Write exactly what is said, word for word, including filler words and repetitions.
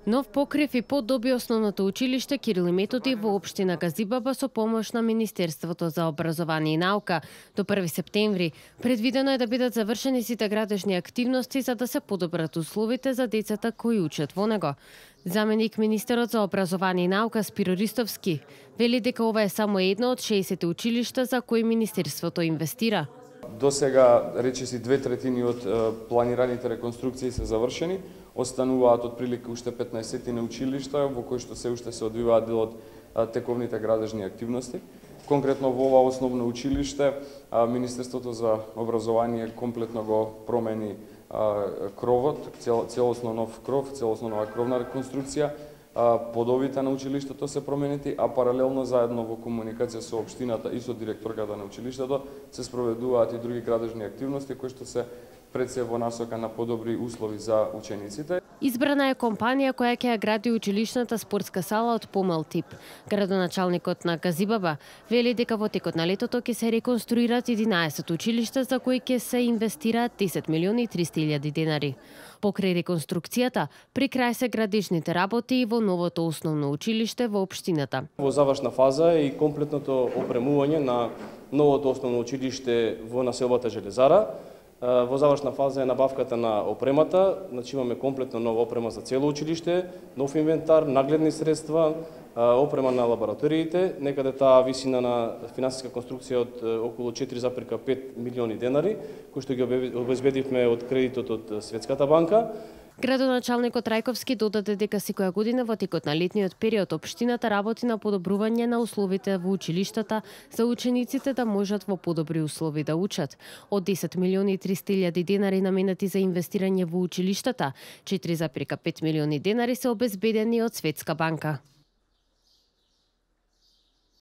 Нов покрив и подоби основното училиште Кирил и Методи во општина Газибаба со помош на Министерството за образование и наука. До први септември предвидено е да бидат завршени сите градежни активности за да се подобрат условите за децата кои учат во него. Заменик министерот за образование и наука Спиро Ристовски вели дека ова е само едно од шеесет училишта за кои Министерството инвестира. До сега, речиси, две третини од планираните реконструкции се завршени, остануваат отприлика уште петнаесет училишта во кои што се уште се одвиваат дел од тековните градежни активности. Конкретно во ова основно училиште, Министерството за образование комплетно го промени кровот, целосно нов кров, целосно нова кровна реконструкција, подовите на училиштето се променети, а паралелно заедно во комуникација со општината и со директорката на училиштето се спроведуваат и други градежни активности кои што се пред се во насока на подобри услови за учениците. Избрана е компанија која ќе ја гради училишната спортска сала од помал тип. Градоначалникот на Газибаба вели дека во текот на летото ќе се реконструират единаесет училишта за кои ќе се инвестираат десет милиони и триста илјади денари. Покрај реконструкцијата, при крај се градежните работи и во новото основно училиште во општината. Во завршна фаза е и комплетното опремување на новото основно училиште во населбата Железара. Во завршна фаза е набавката на опремата, значи имаме комплетно нова опрема за цело училиште, нов инвентар, нагледни средства, опрема на лабораториите, некаде таа висина на финансиска конструкција од околу четири зарез пет милиони денари, кои што ги обезбедивме од кредитот од Светската банка. Градоначалникот Трајковски додаде дека секоја година во текот на летниот период општината работи на подобрување на условите во училиштата за учениците да можат во подобри услови да учат. Од десет милиони и триста илјади денари наменати за инвестирање во училиштата, четири зарез пет милиони денари се обезбедени од Светска банка.